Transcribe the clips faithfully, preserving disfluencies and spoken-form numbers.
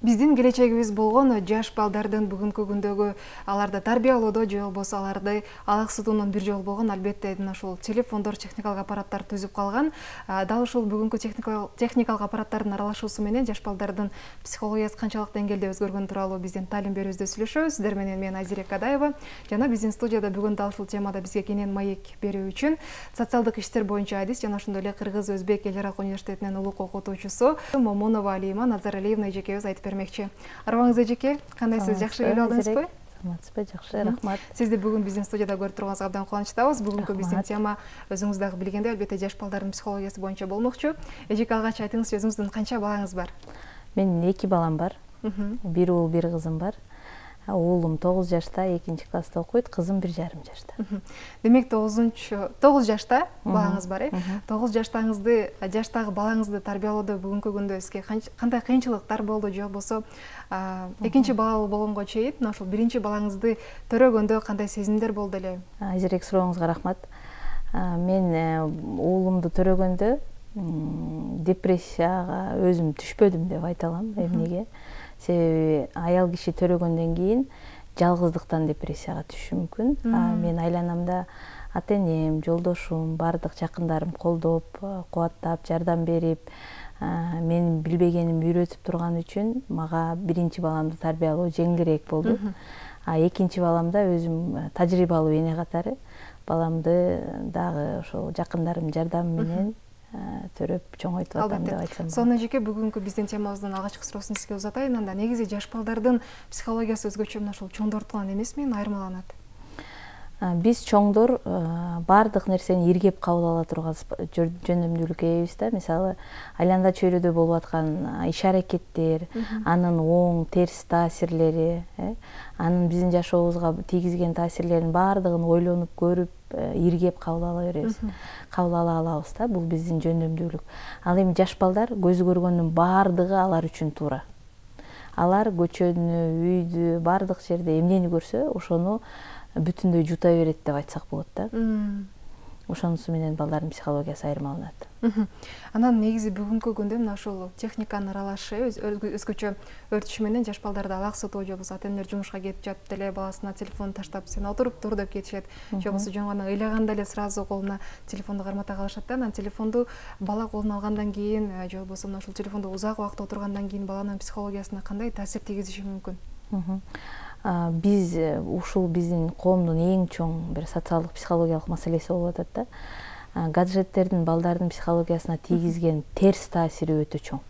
Биздин келечегибиз болгон жаш балдардын бүгүнкү күндөгү аларды тарбиялоодо же болбосо аларды алаксытуунун бир жолу болгон албетте мына ушул телефондор, техникалык аппараттар түзүп калган. Дал ушул бүгүнкү техникалык аппараттардын аралашуусу менен жаш балдардын психологиясы канчалык деңгээлде өзгөргөн тууралуу биздин таалим берүүбүздө сүйлөшөбүз. Сиздер менен мен Айзира Кадаева жана биздин студияда бүгүн дал ушул темада бизге кенен маек берүү үчүн социалдык иштер боюнча адис жана ошондой эле Кыргыз Өзбек эл аралык университетинин улук окутуучусу Момунова Алима Назаралиевна эжекебиз айтып бермекчи. Арыбаңыз эжеке, кандайсыз, жакшы келип алдыңызбы? Саламатсызбы, жакшы, рахмат. Сизди бүгүн биздин студияда көрүп турганыбызга абдан кубанычтабыз. Бүгүнкү биздин тема өзүңүз дагы билгендей, албетте жаш балдардын психологиясы боюнча болмокчу. Эжеке, алгач айтыңызчы, өзүңүздүн канча балаңыз бар? Менин эки балам бар. Бир уул, бир кызым бар. Уулум тогуз жашта, экинчи класста окуйт, кызым бир жарым жашта. Демек тогузунчу тогуз жашта балаңыз бар, э? тогуз жаштагыңызды, жаштагы балаңызды тарбиялоодо бүгүнкү күндө сизге кандай кыйынчылыктар болду же болбосо экинчи балалуу болгонго чейин мына ушул биринчи балаңызды төрөгөндө кандай сезимдер болду эле? Азиреки сурооңузга рахмат. Мен уулумду төрөгөндө депрессияга өзүм түшпөдүм деп айта алам. Эмнеге? Себеби аял киши төрөгөндөн кийин жалгыздыктан депрессияга түшүшү мүмкүн. Мен айланамда ата-энем, жолдошум, бардык жакындарым колдоп, кубаттап, жардам берип, менин билбегенимди үйрөтүп турган үчүн мага биринчи баламды тарбиялоо жеңилирээк болду. А экинчи баламда өзүм тажрыйбалуу эне катары баламды дагы ошол жакындарымдын жардамы менен төрөп чоңойтуп атам деп айтсам болот. Сонун эжеке, бүгүнкү биздин темабыздын алгачкы суроосун сизге узатайын. Анда негизи жаш балдардын психологиясы өзгөчө мына ушул чоңдордукунан эмес менен айырмаланат? Биз чоңдор баардык нерсени иргеп кабыл ала турган жөндөмдүүлүккө ээбиз да. Мисалы, айланда чөйрөдө болуп аткан иш аракеттер, анын оң, терс таасирлери, анын биздин жашообузга тийгизген таасирлеринин баардыгын ойлонуп көрүп, иргеп кабыл ала беребиз. Кабыл ала алабыз да, бул биздин жөндөмдүүлүк. Ал эми жаш балдар көзү көргөндүн баардыгы алар үчүн туура. Алар көчөнү, үйдү, баардык жерде эмнени көрсө, ошону бүтүндөй жута берет деп айтсак болот да. Ошонусу менен балдардын психологиясы айырмаланат. Анан негизи бүгүнкү күндө мына ушул техниканын аралашы өзгөчө өртүшү менен жаш балдарды алаксытуу же болбосо ата-энелер жумушка кетип жатып деле баласына телефон таштап сен отуруп тур деп кетишет. Же болбосо жөн гана ыйлаганда эле сразу колуна телефонду кармата калышат да. Анан телефонду бала колуна алгандан кийин же болбосо мына ушул телефондо узак убакыт отургандан кийин баланын психологиясына кандай таасир тийгизиши мүмкүн? Биз ушул биздин коомдун эң чоң бир социалдык психологиялык маселеси болуп атат да. Гаджеттердин балдардын психологиясына тийгизген терс таасири өтө чоң.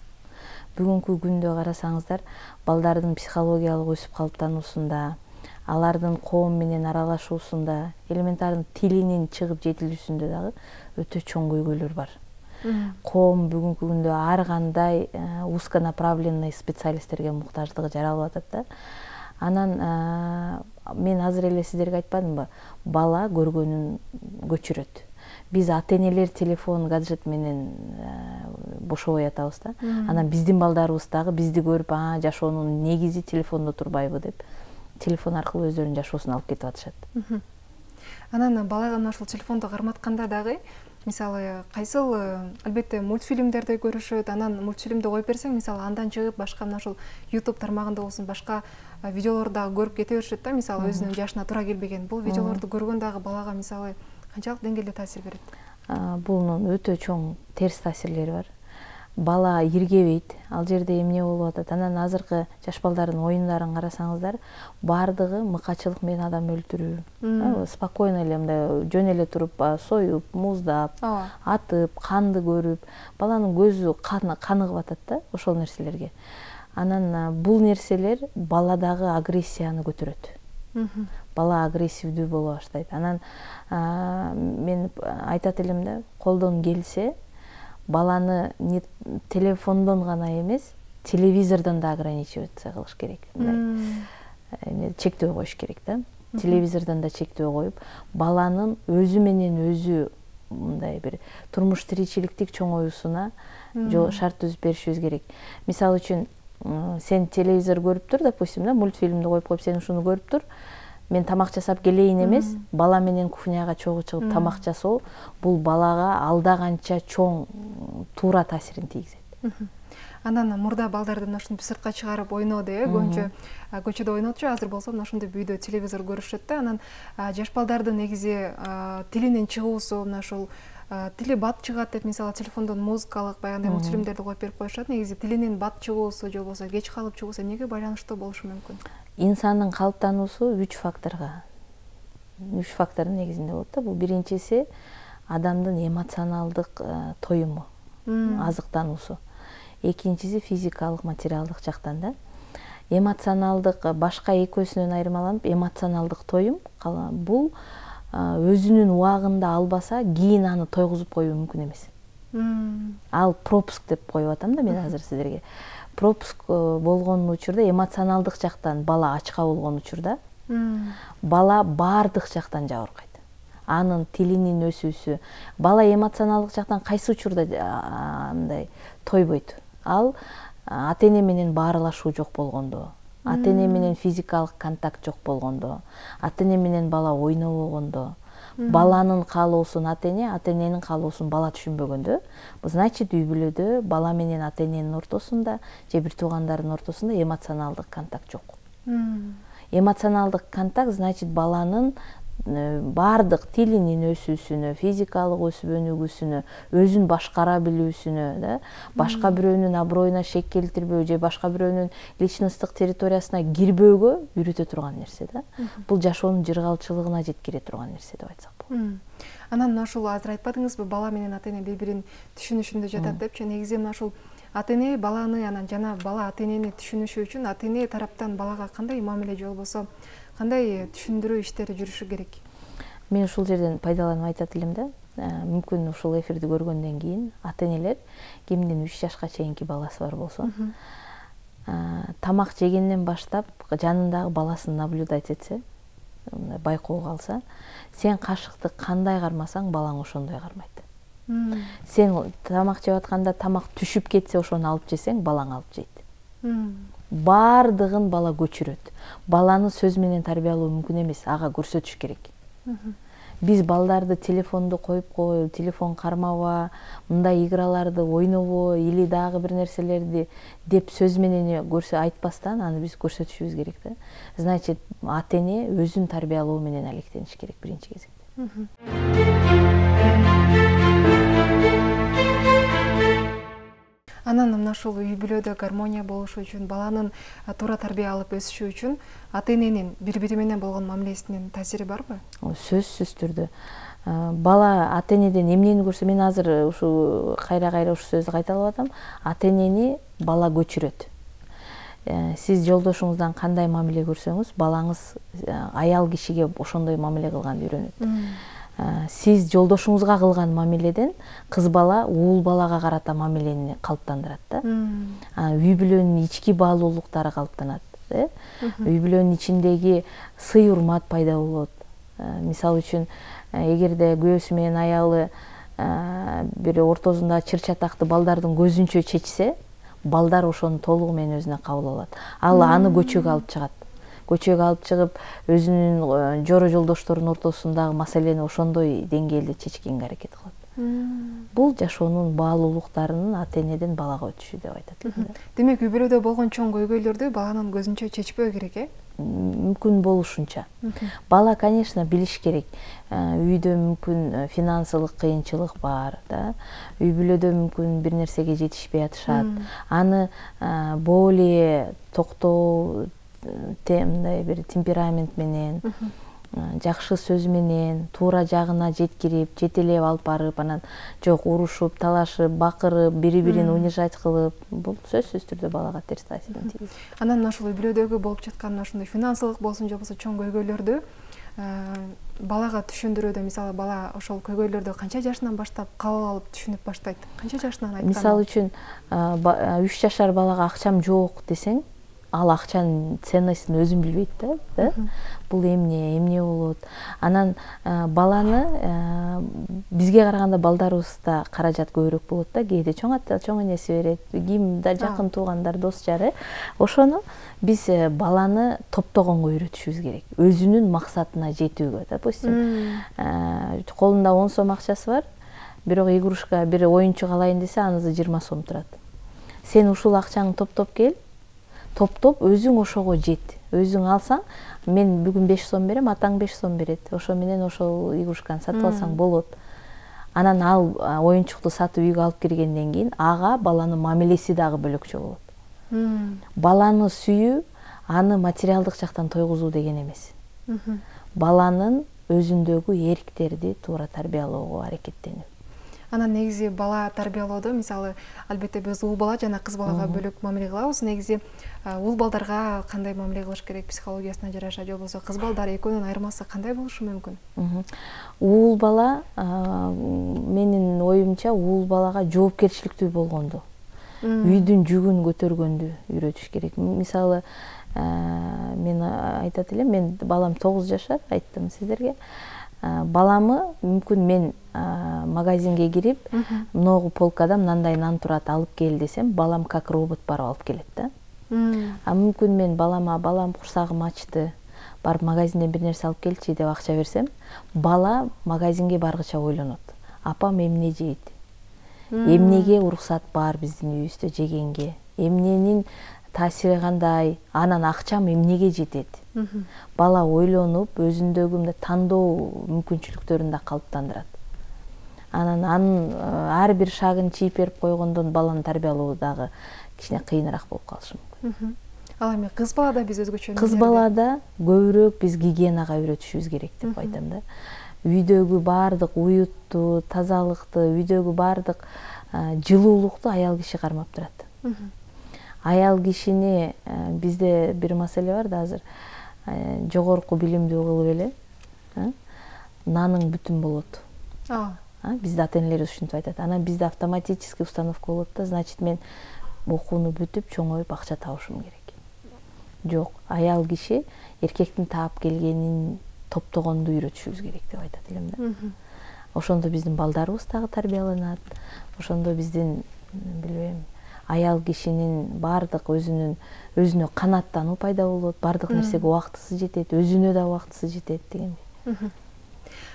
Бүгүнкү күндө карасаңыздар, балдардын психологиялык өсүп калыптануусунда, алардын коом менен аралашуусунда, элементарный тилинин чыгып жетилүүсүндө дагы өтө чоң көйгөйлөр бар. Коом бүгүнкү күндө ар кандай узконаправленный специалисттерге муктаждыгы жаралып атат да. Анан мен азыр эле сиздерге айтпадымбы, бала көргөнүн көчүрөт. Биз ата-энелер телефон, гаджет менен бошобой атабыз да. Анан биздин балдарыбыз дагы бизди көрүп, а жашоонун негизи телефондо турбайбы деп, телефон аркылуу өздөрүнүн жашоосун алып кетип атышат. Анан балага мына ушул телефонду карматканда дагы, мисалы, кайсыл албетте мультфильмдерди көрүшөт, анан мультфильмди коюп берсең, мисалы, андан чыгып башка мына ушул YouTube тармагында болсун, башка видеолорду дагы көрүп кете беришет да, мисалы, өзүнүн жашына туура келбеген. Бул видеолорду көргөн дагы балага, мисалы, канчалык деңгээлде таасир берет? Бунун өтө чоң терс таасирлери бар. Бала иргебейт, ал жерде эмне болуп атат. Анан азыркы жаш балдардын оюндарын карасаңыздар, баардыгы мыкачылык менен адам өлтүрүү. Спокойно эле мындай жөн эле туруп, союп, муздап, атып, канды көрүп, баланын көзү каныгып атат да ошол нерселерге. Анан бул нерселер баладагы агрессияны көтөрөт. Бала агрессивдүү боло баштайт. Анан мен айтат элем да, колдон келсе, баланы не телефондон гана эмес, телевизордон да ограничиваться кылыш керек. Чектөө коюш керек да. Телевизордон да чектөө коюп, баланын өзү менен өзү мындай бир турмуш тиричиликтик чоңоюусуна шарт түзүп беришибиз керек. Мисалы үчүн, сен телевизор көрүп тур, допустим, да, мультфильмди коюп коюп, сен ушуну көрүп тур, мен тамак жасап келейин эмес, бала менен кухняга чогуу чыгып тамак жасоо, бул балага алда канча чоң туура таасирин тийгизет. Анан мурда балдарды мына ушинтип сыртка чыгарып ойноду, э, көбүнчө көчөдө ойнотчу, азыр болсо мына ушундай үйдө телевизор көрүшөт да. Анан жаш балдардын негизи тилинин чыгуусу, мына ушул тили бат чыгат деп мисалы телефондон музыкалык баягындай мультфильмдерди коюп берип коюшат. Негизи тилинин бат чыгуусу же болбосо кеч калып чыгуусу эмнеге байланыштуу болушу мүмкүн? Инсандын калыптануусу үч факторго үч фактордун негизинде болот да. Бул биринчиси адамдын эмоционалдык тоюму, азыктануусу. Экинчиси физикалык, материалдык жактан да. Эмоционалдык башка экөөсүнөн айырмаланып, эмоционалдык тоюм бул өзүнүн убагында албаса, кийин аны тойгузуп коюу мүмкүн эмес. Ал пропуск деп коюп атам да мен азыр сиздерге. Пропуск болгон учурда эмоционалдык жактан бала ачка болгон учурда бала баардык жактан жабыркайт. Анын тилинин өсүүсү, бала эмоционалдык жактан кайсы учурда андай тойбойт? Ал ата-эне менен баарлашуу жок болгондо, ата-эне менен физикалык контакт жок болгондо, ата-эне менен бала ойнобогондо, баланын каалоосун ата-эне, ата-эненин каалоосун бала түшүнбөгөндө, значит үй бүлөдө бала менен ата-эненин ортосунда же бир туугандардын ортосунда эмоционалдык контакт жок. Эмоционалдык контакт значит баланын баардык тилинин өсүүсүнө, физикалык өсүп өнүгүүсүнө, өзүн башкара билүүсүнө, да, башка бирөөнүн аброюна шек келтирбөө же башка бирөөнүн личносттук территориясына кирбөөгө үйрөтө турган нерсе да. Бул жашоонун жыргалчылыгына жеткире турган нерсе деп айтсак болот. Анан мына ушул азыр айтпадыңызбы, бала менен ата-эне бири-бирин түшүнүшүндө жатат депчи. Негизи мына ушул ата-эне баланы анан жана бала ата-энени түшүнүшү үчүн ата-эне тараптан балага кандай мамиле же болбосо кандай түшүндүрүү иштери жүрүшү керек? Мен ушул жерден пайдаланып айтат элем да. Мүмкүн ушул эфирди көргөндөн кийин ата-энелер кимдин үч жашка чейинки баласы бар болсо, тамак жегенден баштап жанындагы баласын наблюдать этсе, байкоого алса, сен кашыкты кандай кармасаң, балаң ошондой кармайт. Сен тамак жеп атканда тамак түшүп кетсе, ошону алып жесең, балаң алып жейт. Баардыгын бала көчүрөт. Баланы сөз менен тарбиялоо мүмкүн эмес, ага көрсөтүш керек. Биз балдарды телефонду коюп кой, телефон кармаба, мындай играларды ойнобо, или дагы бир нерселерди деп сөз менен көрсө айтпастан аны биз көрсөтүшүбүз керек да. Значит, ата-эне өзүн тарбиялоо менен алектениш керек биринчи кезекте. Анан мына ушул үй бүлөдө гармония болушу үчүн, баланын туура тарбия алып өсүшү үчүн ата-эненин бири-бири менен болгон мамилесинин таасири барбы? Сөзсүз түрдө. Бала ата-энеден эмнени көрсө, мен азыр ушу кайра-кайра ушу сөздү кайталап атам, ата-энени бала көчүрөт. Сиз жолдошуңуздан кандай мамиле көрсөңүз, балаңыз аял кишиге ошондой мамиле кылганды үйрөнөт. Сиз жолдошуңузга кылган мамиледен кыз бала уул балага карата мамилени калыптандырат да. Үй бүлөнүн ички баалуулуктары калыптанат. Үй бүлөнүн ичиндеги сый урмат пайда болот. Мисалы үчүн, эгерде күйөөсү менен аялы бир ортосунда чыр чатакты балдардын көзүнчө чечсе, балдар ошону толугу менен өзүнө кабыл алат. Ал аны көчөгө алып чыгат. Көчөгө алып чыгып, өзүнүн жоро жолдошторунун ортосундагы маселени ошондой деңгээлде чечкенге аракет кылат. Бул жашоонун баалуулуктарынын ата-энеден балага өтүшү деп айтат. Демек, үй бүлөдө болгон чоң көйгөйлөрдү баланын көзүнчө чечпөө керек, э? Мүмкүн болушунча. Бала, конечно, билиш керек. Үйдө мүмкүн финансылык кыйынчылык бар, да. Үй бүлөдө мүмкүн бир нерсеге жетишпей атышат. Аны более токтоо, мындай бир темперамент менен, жакшы сөз менен, туура жагына жеткирип, жетелеп алып барып, анан жок урушуп, талашып, бакырып, бири-бирин унижать кылып, бул сөзсүз түрдө балага терс таасирин тийгизет. Анан мына ушул үй бүлөдөгү болуп жаткан ушундай финансылык болсун же болбосо чоң көйгөйлөрдү балага түшүндүрүүдө, мисалы, бала ошол көйгөйлөрдү канча жашынан баштап кабыл алып түшүнүп баштайт? Канча жашынан айтканда? Мисалы үчүн, үч жашар балага акчам жок десең, ал акчанын ценностун өзүн билбейт да. Бул эмне, эмне болот. Анан баланы бизге караганда балдарыбызда каражат көбүрөөк болот да. Кээде чоң ата, чоң энеси берет, ким да жакын туугандар, дос жары. Ошону биз баланы топтогонго үйрөтүшүбүз керек. Өзүнүн максатына жетүүгө, допустим. Колунда он сом акчасы бар, бирок игрушка, бир оюнчук алайын десе, анысы жыйырма сом турат. сен ушул акчаңды топтоп кел, топтоп өзүң ошого жет. Өзүң алсаң, мен бүгүн беш сом берем, атаң беш сом берет. Ошо менен ошол игрушканы сатып алсаң болот. Анан ал оюнчукту сатып үйгө алып киргенден кийин ага баланын мамилеси дагы бөлөкчө болот. Баланы сүйүү, аны материалдык жактан тойгузуу деген эмес. Баланын өзүндөгү эрктерди туура тарбиялоого аракеттенүү. Анан негизи бала тарбиялоодо, мисалы, албетте биз уул бала жана кыз балага бөлөк мамиле кылабыз. Негизи уул балдарга кандай мамиле кылыш керек психологиясына жараша, же болбосо кыз балдар экөөнүн айырмасы кандай болушу мүмкүн? Уул бала, менин оюмча, уул балага жоопкерчиликтүү болгонду, үйдүн жүгүн көтөргөндү үйрөтүш керек. Мисалы, мен айтат элем, мен балам тогуз жашар, айттым сиздерге. Баламы мүмкүн мен магазинге кирип, многу полкада мындай нан турат, алып кел десем, балам как робот барып алып келет да. А мүмкүн мен балама, балам курсагым ачты, барып магазинден бир нерсе алып келчи деп акча берсем, бала магазинге баргыча ойлонот. Апам эмне жейт? Эмнеге уруксат бар биздин үйүбүздө жегенге? Эмненин таасири кандай? Анан акчам эмнеге жетет? Бала ойлонуп, өзүндөгү мындай тандоо мүмкүнчүлүктөрүн да калыптандырат. Анан анын ар бир шагын чийип берип койгондон баланы тарбиялоо дагы кичине кыйыныраак болуп калышы мүмкүн. Ал эми кыз балада биз өзгөчө кыз балада көбүрөөк биз гигиенага үйрөтүшүбүз керек деп айтам да. Үйдөгү баардык уютту, тазалыкты, үйдөгү баардык жылуулукту аял киши кармап турат. Аял кишини бизде бир маселе бар да азыр. Жогорку билимдүү кылып эле наның бүтүн болот. Бизде ата-энелер ушинтип айтат. Анан бизде автоматический установка болот да, значит мен окууну бүтүп чоңоюп акча табышым керек. Жок, аял киши эркектин таап келгенин топтогонду үйрөтүшүбүз керек деп айтат элем да. Ошондо биздин балдарыбыз дагы тарбияланат. Ошондо биздин, билбейм, аял кишинин баардык өзүнүн өзүнө канааттануу пайда болот, баардык нерсеге убактысы жетет, өзүнө да убактысы жетет дегендей.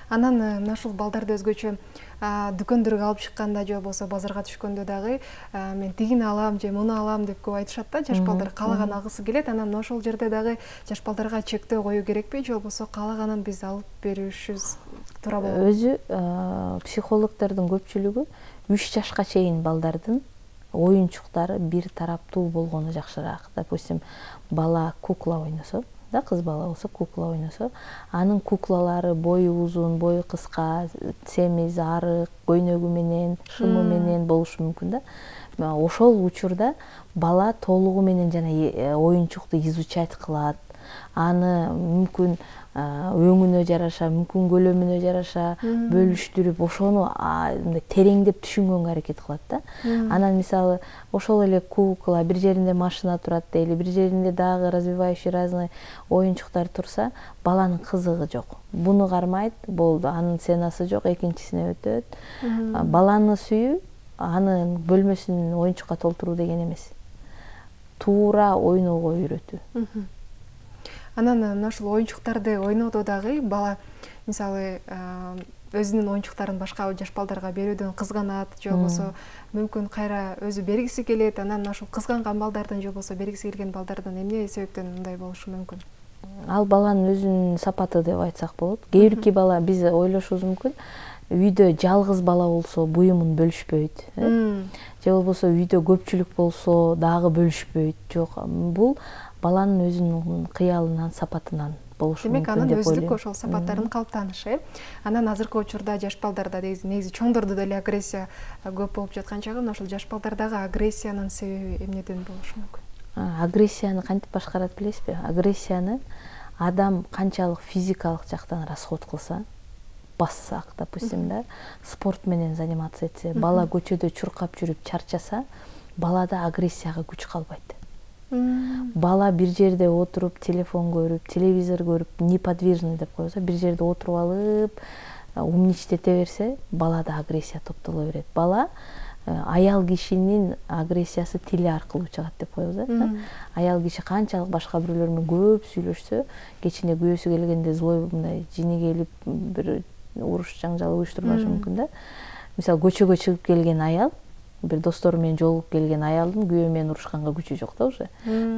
Анан мына ушул балдарды өзгөчө дүкөндөргө алып чыкканда же болбосо базарга түшкөндө дагы мен тигини алам же муну алам деп көп айтышат да, жаш балдар каалаган алгысы келет. Анан ошол жерде дагы жаш балдарга чектөө коюу керекпи же болбосо каалаганын биз алып беришибиз туура болобу? Өзү психологдордун көпчүлүгү үч жашка чейин балдардын оюнчуктары бир тараптуу болгону жакшыраак. Допустим, бала кукла ойносо, да, кыз бала болсо кукла ойносо, анын куклалары бою узун, бою кыска, семиз, арык, көйнөгү менен, шымы менен болушу мүмкүн да. Ошол учурда бала толугу менен жана оюнчукту изучать кылат. Аны мүмкүн өңүнө жараша, мүмкүн көлөмүнө жараша бөлүштүрүп, ошону тереңдеп түшүнгөнгө аракет кылат да. Анан мисалы, ошол эле кукла, бир жеринде машина турат дейли, бир жеринде дагы развивающий разный оюнчуктар турса, баланын кызыгы жок. Буну кармайт, болду, анын сценасы жок, экинчисине өтөт. Баланы сүйүү, анын бөлмөсүн оюнчукка толтуруу деген эмес. Туура ойноого үйрөтүү. Анан мына ушул оюнчуктарды ойнодо дагы бала, мисалы, өзүнүн оюнчуктарын башка жаш балдарга берүүдөн кызганат, же болбосо мүмкүн кайра өзү бергиси келет. Анан мына ушул кызганган балдардын же болбосо бергиси келген балдардын эмне себептен мындай болушу мүмкүн? Ал баланын өзүнүн сапаты деп айтсак болот. Кээ бирки бала, биз ойлошубуз мүмкүн, үйдө жалгыз бала болсо буюмун бөлүшпөйт. Же болбосо үйдө көпчүлүк болсо дагы бөлүшпөйт. Жок, бул баланын өзүнүн кыялынан, сапатынан болушу мүмкүн деп ойлойм. Демек, анын өздүк ошол сапаттарын калыптанышы. Анан азыркы учурда жаш балдарда негизи чоңдордо деле агрессия көп болуп жаткан чагы, ошол жаш балдардагы агрессиянын себеби эмнеден болушу мүмкүн? Агрессияны кантип башкарат билесизби? Агрессияны адам канчалык физикалык жактан расход кылса, бассак, допустим, да, спорт менен заниматься этсе, бала көчөдө чуркап жүрүп чарчаса, балада агрессияга күч калбайт. Бала бир жерде отуруп, телефон көрүп, телевизор көрүп, неподвижный деп коебуз, бир жерде отуруп алып, умничтете берсе, балада агрессия топтоло берет. Бала аял кишинин агрессиясы тили аркылуу чыгат деп коебуз. Аял киши канчалык башка бирөөлөр менен көп сүйлөшсө, кечине күйөөсү келгенде злой мындай жини келип, бир уруш жаңжал уюштурбашы мүмкүн да. Мисалы, көчөгө чыгып келген аял бир достору менен жолугуп келген аялдын күйөө менен урушканга күчү жок да уже.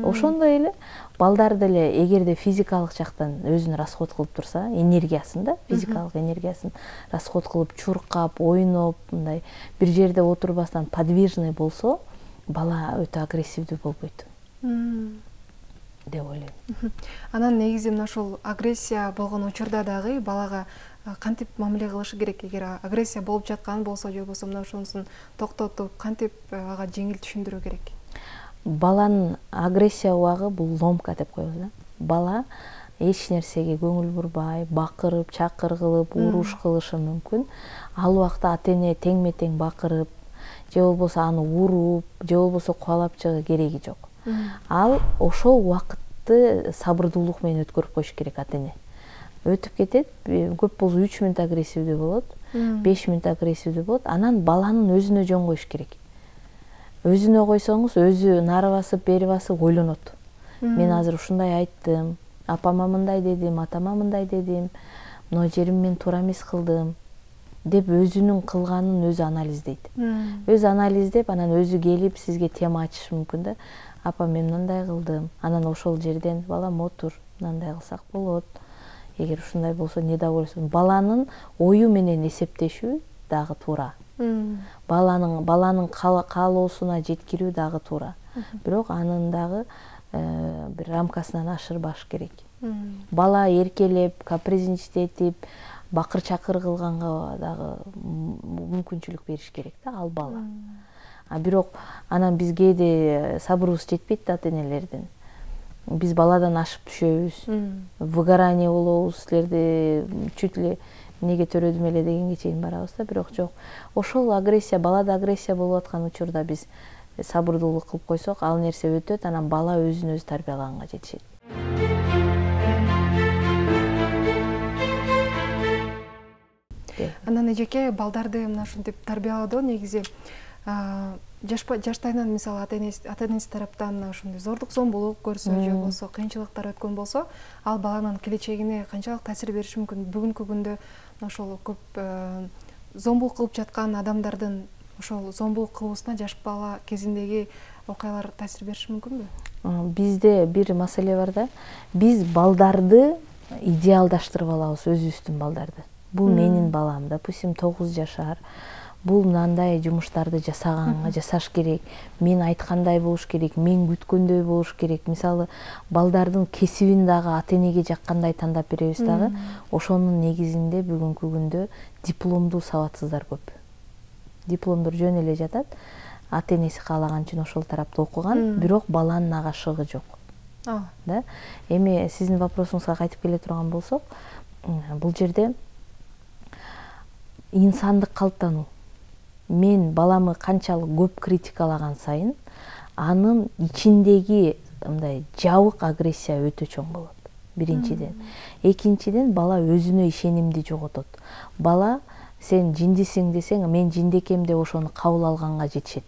Ошондой эле балдар деле эгерде физикалык жактан өзүн расход кылып турса, энергиясын да, физикалык энергиясын расход кылып, чуркап, ойноп, мындай бир жерде отурбастан подвижный болсо, бала өтө агрессивдүү болбойт деп ойлойм. Анан негизи мына ушул агрессия болгон учурда дагы балага кантип мамиле кылышы керек? Эгер агрессия болуп жаткан болсо, же болбосо мына ошонусун токтотуп, кантип ага жеңил түшүндүрүү керек? Баланын агрессия убагы бул ломка деп коебуз да. Бала эч нерсеге көңүл бурбай, бакырып, чакыр кылып, уруш кылышы мүмкүн. Ал убакта ата-эне теңме-тең бакырып, же болбосо аны уруп, же болбосо кубалап чыгуу кереги жок. Ал ошол убакытты сабырдуулук менен өткөрүп коюш керек ата-эне. Өтүп кетет, көп болсо үч мүнөт агрессивдүү болот, беш мүнөт агрессивдүү болот. Анан баланын өзүнө жөн коюш керек. Өзүнө койсоңуз, өзү нары басып, бери басып ойлонот. Мен азыр ушундай айттым, апама мындай дедим, атама мындай дедим, мына жерим мен туура эмес кылдым деп өзүнүн кылганын өзү анализдейт. Өзү анализдеп, анан өзү келип сизге тема ачышы мүмкүн да. Апа, мен мындай кылдым. Анан ошол жерден балам отур, мындай кылсак болот. Эгер ушундай болсо недовольство. Баланын ою менен эсептешүү дагы туура. Баланын баланын каалоосуна жеткирүү дагы туура. Бирок анын дагы бир рамкасынан ашырбаш керек. Бала эркелеп, капризничать бакыр-чакыр кылганга дагы мүмкүнчүлүк бериш керек да, ал бала. А бирок анан биз кээде сабырыбыз жетпейт да ата-энелердин. Биз баладан ашып түшөбүз, выгорание болобуз, силерди чуть ли эмнеге төрөдүм эле дегенге чейин барабыз да, бирок жок. Ошол агрессия, балада агрессия болуп аткан учурда биз сабырдуулук кылып койсок, ал нерсе өтөт, анан бала өзүн өзү тарбиялаганга жетишет. Анан эжеке, балдарды мына ушинтип тарбиялоодо негизи жаштайынан мисалы ата-энеси тараптан ошондой зордук зомбулук көрсө, же болбосо кыйынчылыктар өткөн болсо, ал баланын келечегине канчалык таасир бериши мүмкүн? Бүгүнкү күндө ошол көп зомбулук кылып жаткан адамдардын ошол зомбулук кылуусуна жаш бала кезиндеги окуялар таасир бериши мүмкүнбү? Бизде бир маселе бар да. Биз балдарды идеалдаштырып алабыз, өзүбүздүн балдарды. Бул менин балам, допустим, тогуз жашар. Бул мындай жумуштарды жасаганга жасаш керек. Мен айткандай болуш керек, мен күткөндөй болуш керек. Мисалы, балдардын кесибин дагы ата-энеге жаккандай тандап беребиз дагы. Ошонун негизинде бүгүнкү күндө дипломдуу сабатсыздар көп. Дипломдор жөн эле жатат. Ата-энеси каалаган үчүн ошол тарапта окуган, бирок баланын ага шыгы жок. Да? Эми сиздин вопросуңузга кайтып келе турган болсок, бул жерде инсандык калыптануу. Мен баламы канчалык көп критикалаган сайын, анын ичиндеги мындай жабык агрессия өтө чоң болот. Биринчиден. Экинчиден, бала өзүнө ишенимди жоготот. Бала сен жиндисиң десең, мен жиндекем деп ошону кабыл алганга жетишет.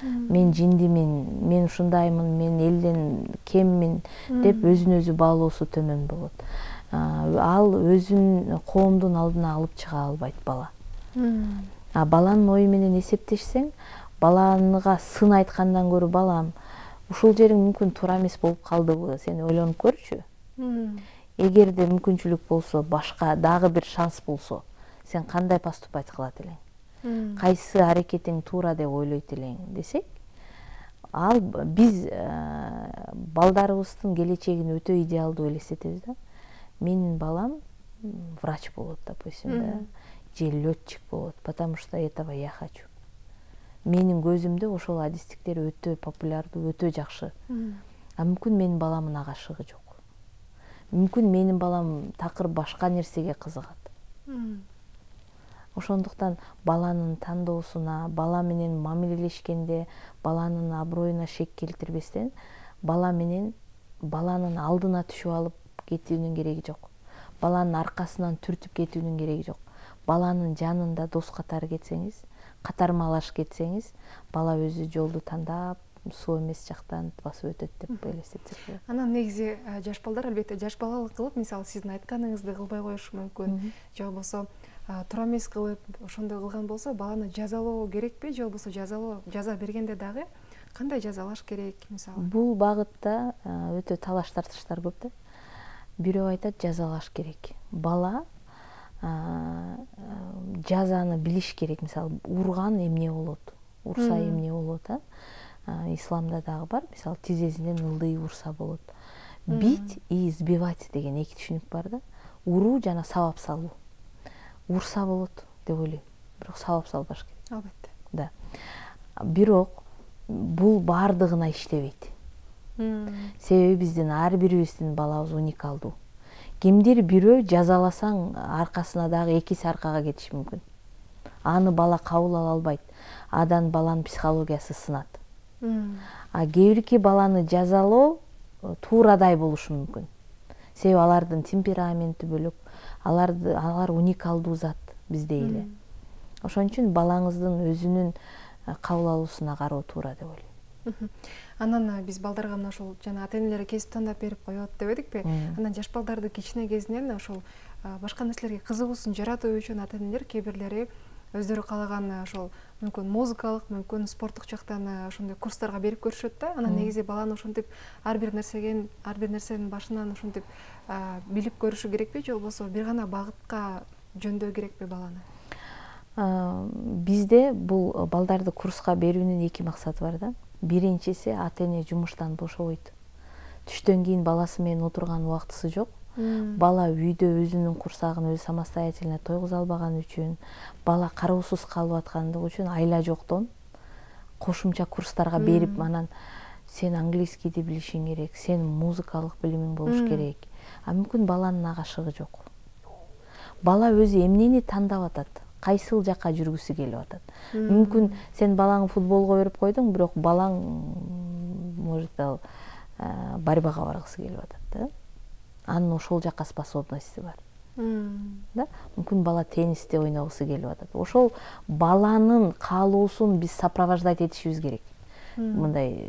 Мен жиндимин, мен ушундаймын, мен элден кеммин деп өзүн өзү баалоосу төмөн болот. Ал өзүн коомдун алдына алып чыга албайт бала. А баланын ою менен эсептешсең, баланга сын айткандан көрө, балам, ушул жериң мүмкүн туура эмес болуп калдыбы, сен ойлонуп көрчү. Эгерде мүмкүнчүлүк болсо, башка дагы бир шанс болсо, сен кандай поступать кылат элең? Кайсы аракетиң туура деп ойлойт элең десек, ал биз балдарыбыздын келечегин өтө идеалдуу элестетебиз да. Менин балам врач болот, допустим, да. Же летчик болот, потому что этого я хочу. Менин көзүмдө ошол адистиктер өтө популярдуу, өтө жакшы. А мүмкүн менин баламын ага шыгы жок. Мүмкүн менин балам такыр башка нерсеге кызыгат. Ошондуктан баланын тандоосуна, бала менен мамилелешкенде, баланын аброюна шек келтирбестен, бала менен баланын алдына түшүп алып кетүүнүн кереги жок. Баланын аркасынан түртүп кетүүнүн кереги жок. Баланын жанында дос катары кетсеңиз, катармалаш кетсеңиз, бала өзү жолду тандап, суу эмес жактан басып өтөт деп элестетсек болот. Анан негизи жаш балдар албетте жаш балалык кылып, мисалы сиздин айтканыңызды кылбай коюшу мүмкүн, же болбосо туура эмес кылып ошондой кылган болсо баланы жазалоо керекпи же болбосо жазалоо жаза бергенде дагы кандай жазалаш керек мисалы? Бул багытта өтө талаш тартыштар көп да. Бирөө айтат жазалаш керек. Бала жазаны билиш керек. Мисалы урган эмне болот? Урса эмне болот, а? Исламда дагы бар. Мисалы тизесинен ылдый урса болот. Бить и избивать деген эки түшүнүк бар да. Уруу жана сабап салуу. Урса болот деп ойлойм. Бирок сабап салбаш керек. Албетте. Да. Бирок бул бардыгына иштебейт. Себеби биздин ар бирибиздин балабыз уникалдуу. Кимдир бирөө жазаласаң аркасына дагы экиси аркага кетиши мүмкүн. Аны бала кабыл ала албайт. Адан баланын психологиясы сынат. А кээ бирки баланы жазалоо туурадай болушу мүмкүн. Себеби алардын темпераменти бөлөк, аларды алар уникалдуу зат биздей эле. Ошон үчүн балаңыздын өзүнүн кабыл алуусуна кароо туура деп ойлойм. Анан биз балдарга мына ошол жана ата-энелер кесип тандап берип коет деп эдикпи? Анан жаш балдарды кичине кезинен ошол башка нерселерге кызыгуусун жаратуу үчүн ата-энелер кээ бирлери өздөрү каалаган ошол мүмкүн музыкалык, мүмкүн спорттук жактан ошондой курстарга берип көрүшөт да. Анан негизи баланы ошентип ар бир нерсеген, ар бир нерсенин башынан ошентип билип көрүшү керекпи же болбосо бир гана багытка жөндөй керекпи баланы? Бизде бул балдарды курска берүүнүн эки максаты бар да. Биринчиси ата-эне жумуштан бошобойт. Түштөн кийин баласы менен отурган убактысы жок. Бала үйдө өзүнүн курсагын өзү самостоятельно тойгуза албаган үчүн, бала кароосуз калып аткандыгы үчүн айла жоктон кошумча курстарга берип, анан сен английскийди билишиң керек, сен музыкалык билимиң болуш керек. А мүмкүн баланын агашыгы жок. Бала өзү эмнени тандап атат? Кайсыл жакка жүргүсү келип атат? Мүмкүн сен балаңды футболго берип койдуң, бирок балаң может ал борьбага баргысы келип атат да. Анын ошол жакка способности бар. Да? Мүмкүн бала теннисте ойногусу келип атат. Ошол баланын каалоосун биз сопровождать этишибиз керек. Мындай,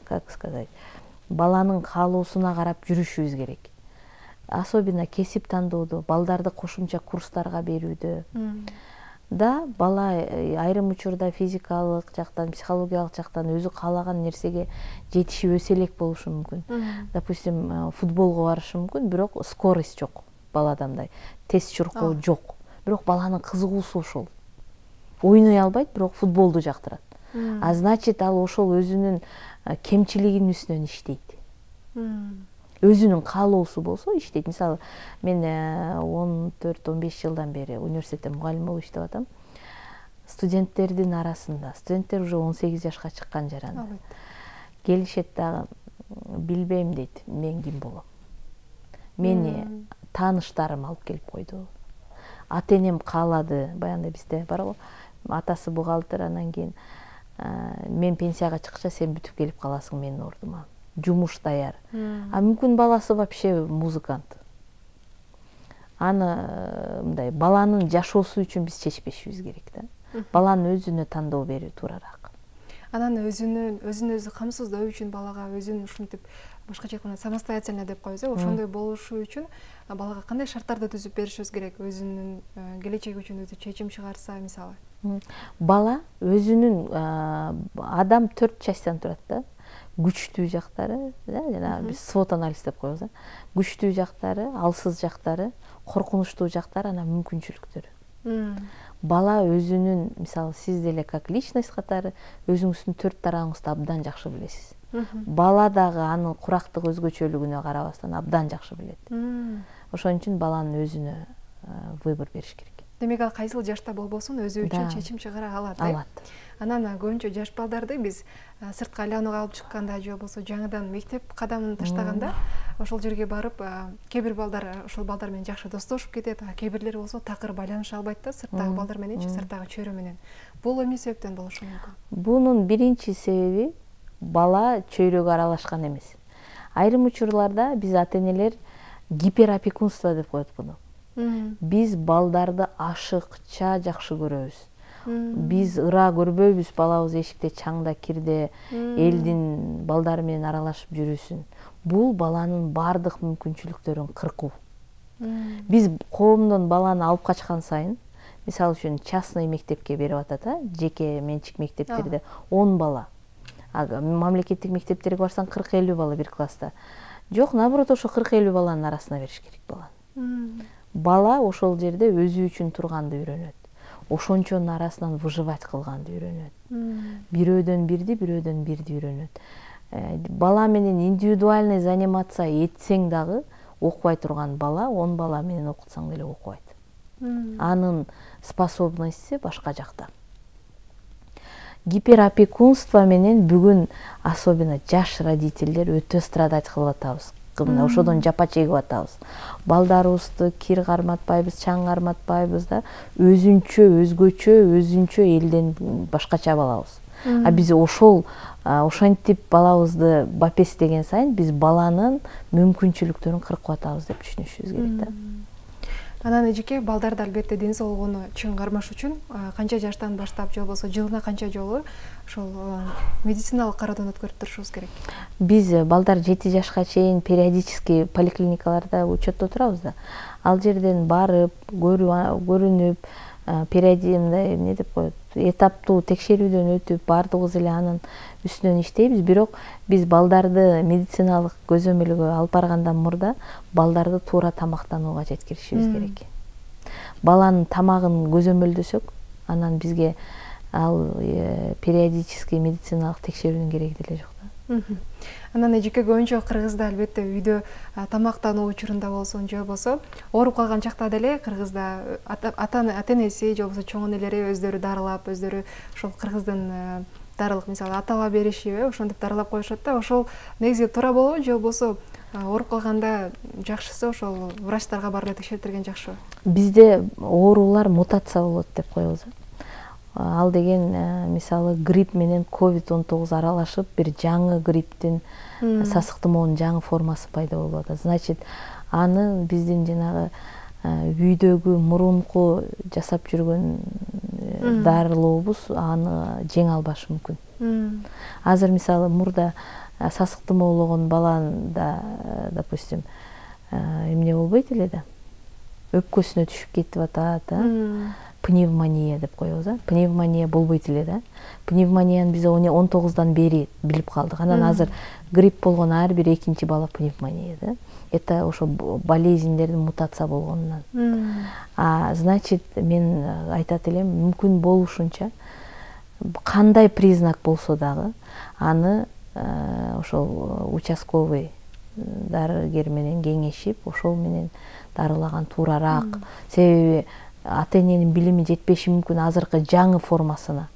как сказать, баланын каалоосуна карап жүрүшүбүз керек. Особенно кесип тандоодо, балдарды кошумча курстарга берүүдө. Да, бала айрым учурда физикалык жактан, психологиялык жактан өзү каалаган нерсеге жетишип өсө элек болушу мүмкүн. Допустим, футболго барышы мүмкүн, бирок скорость жок балада, мындай тез чуркоо жок. Бирок баланын кызыгуусу ошол. Ойной албайт, бирок футболду жактырат. А значит, ал ошол өзүнүн кемчилигинин үстүнөн иштейт. Өзүнүн каалоосу болсо иштейт. Мисалы, мен он төрт он беш жылдан бери университетте мугалим болуп иштеп атам. Студенттердин арасында, студенттер уже он сегиз жашка чыккан жарандар. Келишет дагы, билбейм дейт, мен ким болом. Мени тааныштарым алып келип койду. Ата-энем каалады, баягында бизде бар го, атасы бухгалтер, анан кийин мен пенсияга чыкча сен бүтүп келип каласың менин ордума. Жумуш даяр. А мүмкүн баласы вообще музыкант. Аны мындай баланын жашоосу үчүн биз чечпешибиз керек да. Баланын өзүнө тандоо берүү туурараак. Анан өзүнүн өзүн өзү камсыздоо үчүн балага өзүн ушинтип башкача айтканда самостоятельно деп коебуз, ошондой болушу үчүн балага кандай шарттарды түзүп беришибиз керек? Өзүнүн келечеги үчүн өзү чечим чыгарса, мисалы. Бала өзүнүн адам төрт частьтан турат да. Күчтүү жактары, жана биз свот анализ деп коебуз. Күчтүү жактары, алсыз жактары, коркунучтуу жактары, анан мүмкүнчүлүктөрү. Бала өзүнүн, мисалы, сиз деле как личность катары өзүңүздүн төрт тарабыңызды абдан жакшы билесиз. Бала дагы анын курактык өзгөчөлүгүнө карабастан абдан жакшы билет. Ошон үчүн баланын өзүнө выбор бериш керек. Демек, ал кайсыл жашта болбосун өзү үчүн чечим чыгара алат. Алат. Анан көбүнчө жаш балдарды биз сыртка айланууга алып чыкканда же болбосо жаңыдан мектеп кадамын таштаганда ошол жерге барып, кээ бир балдар ошол балдар менен жакшы достошуп кетет, а кээ бирлери болсо такыр байланыша албайт да сырттагы балдар мененчи, сырттагы чөйрө менен. Бул эмне себептен болушу мүмкүн? Бунун биринчи себеби бала чөйрөгө аралашкан эмес. Айрым учурларда биз ата-энелер гиперопекунство деп коет буну. Биз балдарды ашыкча жакшы көрөбүз. Биз ыра көрбөйбүз балабыз эшикте чаңда кирде элдин балдары менен аралашып жүрүсүн. Бул баланын бардык мүмкүнчүлүктөрүн кыркуу. Биз коомдон баланы алып качкан сайын мисалы үчүн частный мектепке берип атат, а жеке менчик мектептерде он бала. А мамлекеттик мектептерге барсаң кырк элүү бала бир класста. Жок, наоборот, ошо кырк элүү баланын арасына бериш керек баланы. Бала ошол жерде өзү үчүн турганды үйрөнөт. Ошончонун арасынан выживать кылганды үйрөнөт. Бирөөдөн бирди, бирөөдөн бирди үйрөнөт. Бала менен индивидуальный заниматься этсең дагы окубай турган бала он бала менен окутсаң деле окубайт. Анын способностьси башка жакта. Гиперопекунство менен бүгүн особенно жаш родительдер өтө страдать кылып атабыз. Мына ошодон жапа чегип атабыз. Балдарыбызды кир карматпайбыз, чаң карматпайбыз да, өзүнчө, өзгөчө, өзүнчө элден башкача балабыз. А биз ошол ошентип балабызды бапестеген сайын биз баланын мүмкүнчүлүктөрүн кыркып атабыз деп түшүнүшүбүз керек да. Анан эжеке, балдарды албетте ден соолугуну чың кармаш үчүн канча жаштан баштап же болбосо жылына канча жолу ошол медициналык кароодон өткөрүп турушубуз керек? Биз балдар жети жашка чейин периодически поликлиникаларда учетто турабыз да. Ал жерден барып, көрүнүп, периодимдай эмне деп коет, этаптуу текшерүүдөн өтүп, баардыгыбыз эле анын үстүнөн иштейбиз. Бирок биз балдарды медициналык көзөмөлгө алып баргандан мурда балдарды туура тамактанууга жеткиришибиз керек. Баланын тамагын көзөмөлдөсөк, анан бизге ал периодически медициналык текшерүүнүн кереги деле жок да. Анан эжеке, көбүнчө Кыргызда албетте үйдө тамактануу учурунда болсун же болбосо ооруп калган чакта деле Кыргызда ата-энеси же болбосо чоң энелери өздөрү дарылап, өздөрү ошол Кыргыздын дарылык, мисалы атала беришиби, ошентип дарылап коюшат да. Ошол негизи туура болобу же болбосо ооруп калганда жакшысы ошол врачтарга барып текшертирген жакшыбы? Бизде оорулар мутация болот деп коебуз. Ал деген мисалы грипп менен ковид он тогуз аралашып бир жаңы грипптин, сасыктымоонун жаңы формасы пайда болуп атат. Значит, аны биздин жанагы үйдөгү мурунку жасап жүргөн дарылообуз аны жеңе албашы мүмкүн. Азыр мисалы мурда сасыктымоологон баланда, допустим, эмне болбойт эле да. Өпкөсүнө түшүп кетип атат, пневмония деп коебуз, а? Пневмония болбойт эле да. Пневмонияны биз он тогуздан бери билип калдык. Анан азыр грипп болгон ар бир экинчи бала пневмония да. Это ошо болезньдердин мутация болгонунан. А значит, мен айтат элем, мүмкүн болушунча кандай признак болсо дагы аны ошол участковый дарыгер менен кеңешип, ошол менен дарылаган туурарак. Себеби ата-эненин билими жетпеши мүмкүн азыркы жаңы формасына.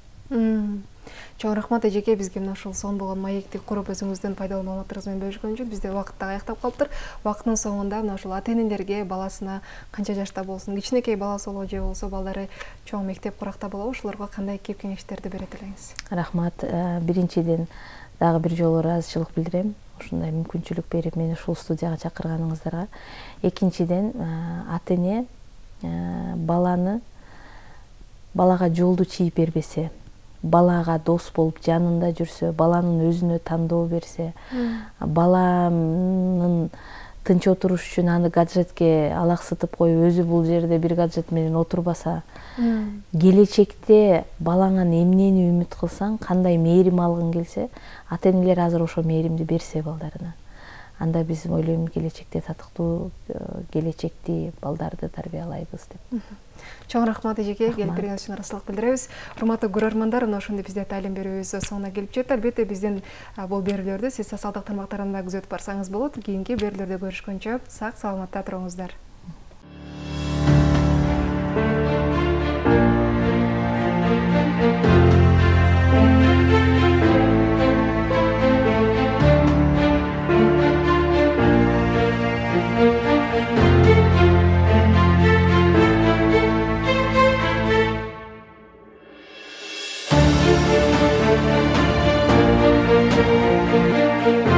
Чоң рахмат эжеке, бизге мына ушул сонун болгон маекти куруп өзүңүздүн пайдалуу маалыматтарыңыз менен бөлүшкөн үчүн. Бизде убакыт дагы аяктап калыптыр. Убакыттын соңунда мына ушул ата-энелерге баласына канча жашта болсун, кичинекей баласы болобу же болбосо балдары чоң мектеп куракта болобу, ошолорго кандай кеп кеңештерди берет элеңиз? Рахмат. Биринчиден дагы бир жолу ыраазычылык билдирем, ушундай мүмкүнчүлүк берип мени ушул студияга чакырганыңыздарга. Экинчиден, ата-эне баланы балага жолду чийип бербесе, балага дос болуп жанында жүрсө, баланын өзүнө тандоо берсе, баланын тынч отуруш үчүн аны гаджетке алаксытып коюп, өзү бул жерде бир гаджет менен отурбаса, келечекте балаңан эмнени үмүт кылсаң, кандай мээрим алгың келсе, ата-энелер азыр ошо мээримди берсе балдарына, анда биз ойлойм келечекте татыктуу келечекти балдарды тарбиялайбыз деп. Чоң рахмат эжеке, келип бергениңиз үчүн ыраазычылык билдиребиз. Урматтуу көрөрмандар, мына ошондой бизде талим берүүбүз соңуна келип жетти. Албетте биздин бул берүүлөрдү сиз социалдык тармактарында күзөтүп барсаңыз болот. Кийинки берүүлөрдө көрүшкөнчө сак саламатта туруңуздар. Thank you.